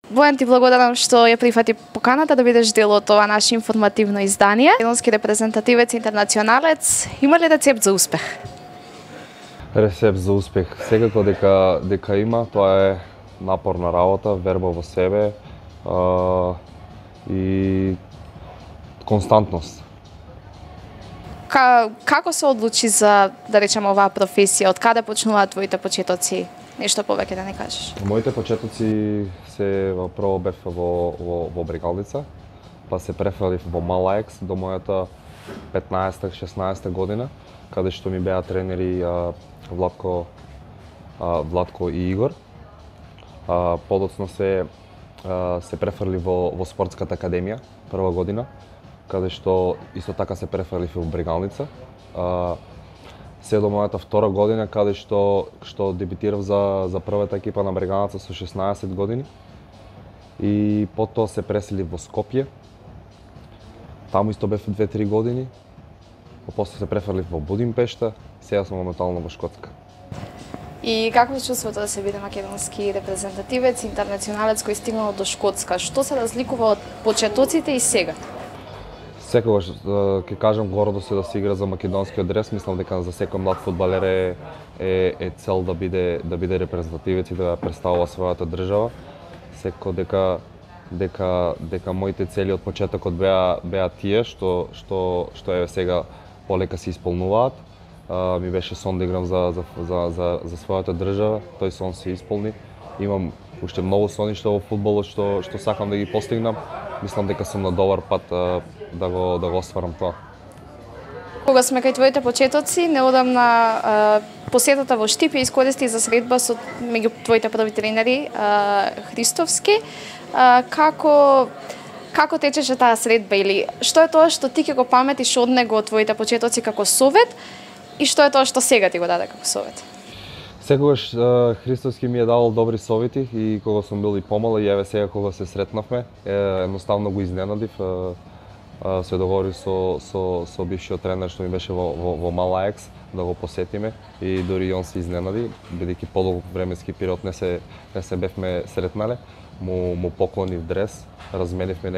Бојан, ти благодарам што ја прифати поканата да бидеш дел од ова наше информативно издание. Македонски репрезентативец, интернационалец, има ли рецепт за успех? Рецепт за успех секако дека има, тоа е напорна работа, верба во себе и константност. Како се одлучи за, да речеме, оваа професија? Од каде почнуваат твоите почетоци? Нешто повеќе да не кажеш? Моите почетоци се прво бев во Брегалница, па се префрлив во Малаекс до мојата 15-16 година, каде што ми беа тренери Владко и Игор. Подоцна се префрлив во спортската академија прва година, каде што исто така се префрлив во Брегалница. Се до мојата втора година, каде што дебитирав за првата екипа на Брегалница со 16 години. И потоа се преселив во Скопје. Таму исто бев 2-3 години. После се префрлив во Будимпешта, сега сум моментално во Шкотска. И какво е чувството да се биде македонски репрезентативец, интернационалец кој стигнал до Шкотска? Што се разликува од почетоците и сега? Секогаш ќе кажам гордо се да се игра за македонскиот дрес. Мислам дека за секој млад фудбалер е цел да биде репрезентативец и да представува својата држава. Секако дека моите цели од почетокот беа тие што е сега полека се исполнуваат. Ми беше сон да играм за својата држава, тој сон се исполни. Имам уште многу соништа во фудбалот што сакам да ги постигнам. Мислам дека сум на добар пат да го остварам тоа. Кога сме кај твоите почетоци, неодамна посетата во Штип ја искористи за средба со меѓу твоите први тренери Христовски. Како течеше таа средба или што е тоа што ти ќе го паметиш од него од твоите почетоци како совет и што е тоа што сега ти го даде како совет? Секогаш Христовски ми е давал добри совети и кога сум бил и помал и еве сега кога се сретнавме, едноставно го изненадив. Се договори со бившиот тренер што ми беше во Малаекс да го посетиме и дури он се изненади, бидејќи подолг временски период не се бевме сретнале. Му поклонив дрес, разменивме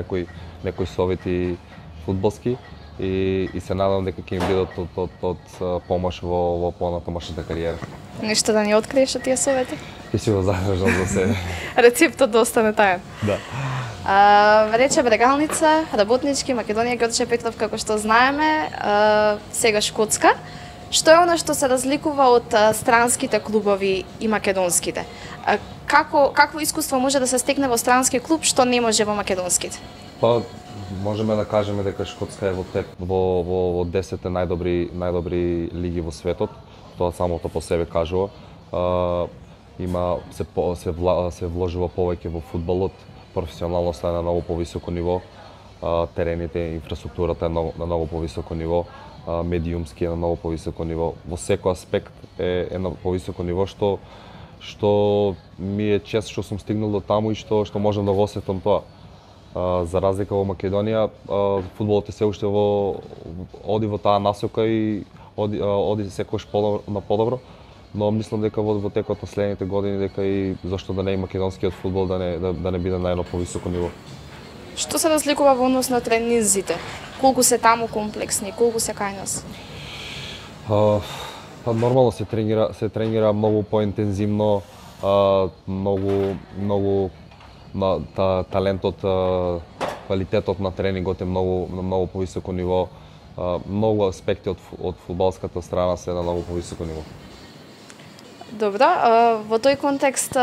некои совети фудбалски и се надам дека ќе ми бидат од помош во понатамошната кариера. Нешто да ни откриеш од тие совети? Ќе си го задржам за себе. Рецептот да остане таен. Да. Рече Брегалница, работнички, Македонија, Ѓорче Петров, како што знаеме, сега Шкотска. Што е она што се разликува од странските клубови и македонските? Какво искуство може да се стекне во странски клуб што не може во македонските? Па можеме да кажеме дека Шкотска е во 10 најдобри лиги во светот. Тоа самото по себе кажува. Се вложува повеќе во фудбалот, професионалноста е на многу повисоко ниво, терените, инфраструктурата е на многу повисоко ниво, медиумски е на многу повисоко ниво. Во секој аспект е на повисоко ниво што ми е чест што сум стигнал до таму и што можам да го осетам тоа. За разлика во Македонија, фудбалот е се уште оди во таа насока и оди секогаш на подобро, но мислам дека во текот на следните години дека и зашто да не и македонскиот фудбал да не биде на едно повисоко ниво. Што се разликува во однос на тренинзите? Колку се таму комплексни, колку се кај нас? Нормално се тренира многу поинтензивно, многу талентот, квалитетот на тренингот е на многу повисоко ниво. Многу аспекти од фудбалската страна се на многу повисоко ниво. Добро, во тој контекст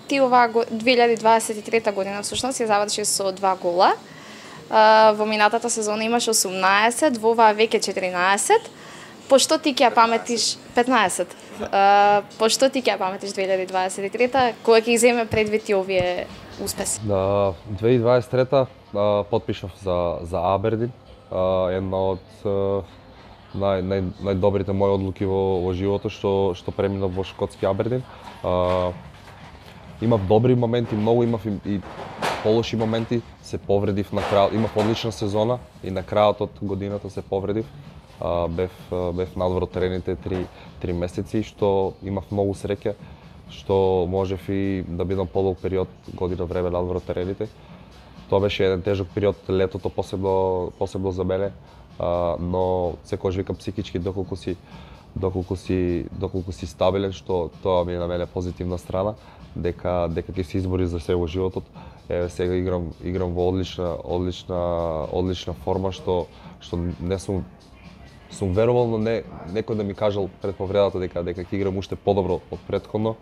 ти оваа 2023 година всушност ја заврши со 2 гола. Во минатата сезона имаш 18, во оваа веќе 14. Пошто ти ќе ја паметиш 15? Пошто ти ќе ја паметиш 2023 кога ќе земе предвид и овие успеси? 2023 потпишав за Абердин, една од најдобрите мои одлуки во животот што преминав во шкотски Абердин. Имав добри моменти, многу имав и полоши моменти, се повредив на крајот. Имав одлична сезона и на крајот од годината се повредив. Бев надвор од терените 3 месеци, што имав многу среќа што можев и да бидам подолг период, година време надвор од терените. Тоа беше еден тежок период, летото посебно за мене, но секогаш викам психички доколку си стабилен, што тоа ми е на мене позитивна страна, дека ќе се избори за се во животот. Еве сега играм во одлична форма, што не сум верувал, но некој да ми кажал пред повредата дека ќе играм уште подобро од претходно.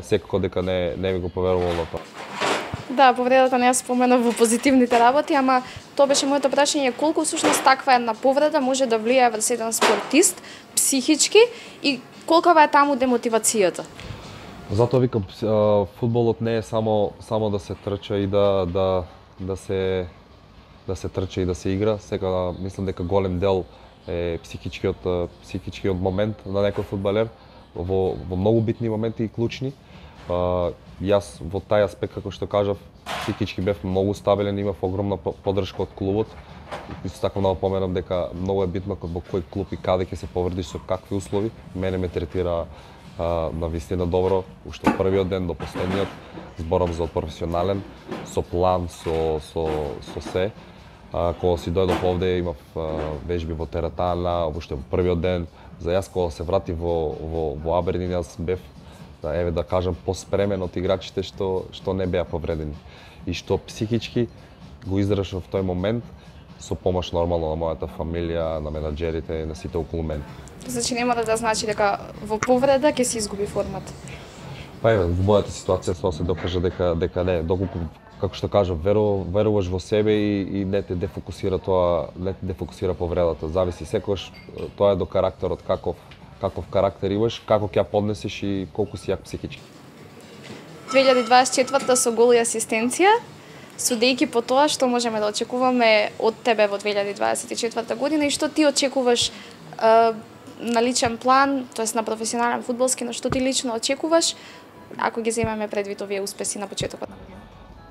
Секако дека не ми го поверувал на тоа. Да, повредата не ја спомена во позитивните работи, ама тоа беше моето прашање, колку всушност таква една повреда може да влијае врз еден спортист психички и колкава е таму демотивацијата? Затоа викам, фудбалот не е само да се трча и да се трча и да се игра. Сега мислам дека голем дел е психичкиот момент на некој фудбалер во многу битни моменти и клучни. Јас во тај аспект, како што кажав, психички бев многу стабилен, имав огромна поддршка од клубот. Исто така да напоменам дека многу е битно во кој клуб и каде ќе се повредиш, со какви услови. Мене ме третира на вистина добро, уште од првиот ден до последниот. Зборам за професионален, со план, со се. Кога си дојдов овде, имав вежби во теретана, уште во првиот ден. За јас кога се врати во Абердин, јас бев, еве да кажам, поспремен од играчите што не беа повредени. И што психички го издржав в тој момент со помош нормално на мојата фамилија, на менаџерите и на сите околу мене. Значи нема да значи дека во повреда ќе се изгуби формата? Па еве, во мојата ситуација тоа се докажа дека не, доколку, како што кажав, веруваш во себе и не те дефокусира повредата. Зависи секогаш, тоа е до карактерот, каков карактер имаш, како ќе ја поднесеш и колку си јак психички. 2024 со гол и асистенција, судејќи по тоа што можеме да очекуваме од тебе во 2024 година и што ти очекуваш на личен план, тоест на професионален фудбалски, на што ти лично очекуваш, ако ги земеме предвид овие успеси на почетокот на годината?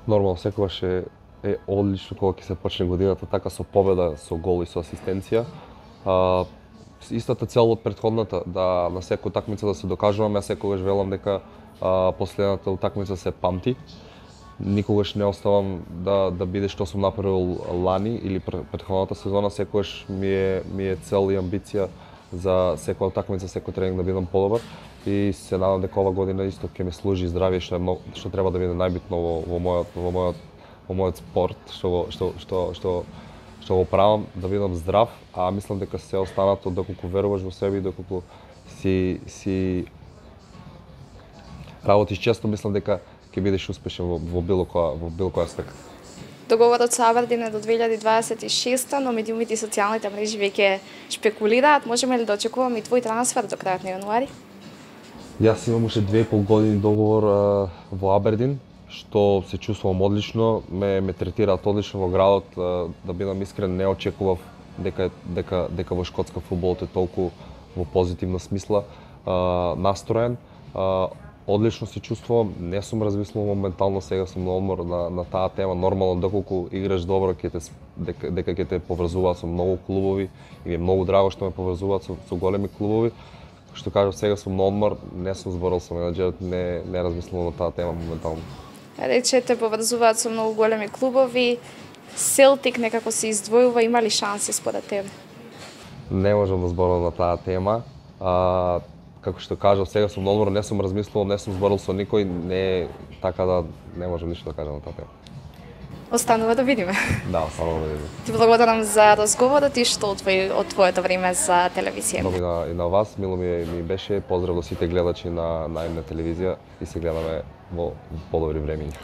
Нормално, секогаш е одлично кога ќе се почне годината така со победа, со гол и со асистенција. Истата цел од претходната, да на секоја утакмица да се докажуваме, јас секогаш велам дека последната утакмица се памти. Никогаш не оставам да биде што сум направил лани или претходната сезона, секогаш ми е цел и амбиција за секоја утакмица, секој тренинг да бидам подобар и се надам дека ова година исто ќе ми служи здравје, што треба да биде најбитно во мојот спорт, што го правам, да бидам здрав, а мислам дека се останато доколку веруваш во себе и доколку си работиш често, мислам дека ќе бидеш успешен во било кој аспект. Договорот со Абердин е до 2026, но медиумите и социјалните мрежи веќе шпекулираат. Можеме ли да очекуваме и твој трансфер до крајот на јануари? Јас имам уште 2,5 години договор во Абердин, што се чувствувам одлично, ме третираат одлично во градот, да бидам искрен, не очекував дека во шкотска фудбалот е толку во позитивна смисла настроен. Одлично се чувствувам, не сум размислувал моментално, сега сум на одмор на таа тема. Нормално, доколку играш добро, дека ќе те поврзуваат со многу клубови и ми е многу драго што ме поврзуваат со големи клубови. Што кажав, сега сум на одмор, не сум зборал со менаџерот, не размислувам на таа тема моментално. Рече те поврзуваат со многу големи клубови. Селтик некако се издвојува, има ли шанси според тебе? Не можам да зборам на таа тема. Како што кажав, сега сум на одмор, не сум размислувал, не сум зборил со никој, не така да не можам ништо да кажам на таа тема. Останува да видиме. Да, останува да видиме. Ти благодарам за разговорот и што од твоето време за телевизија. Многу и на вас, мило ми беше, поздрав до сите гледачи на М телевизија и се гледаме во подобри времиња.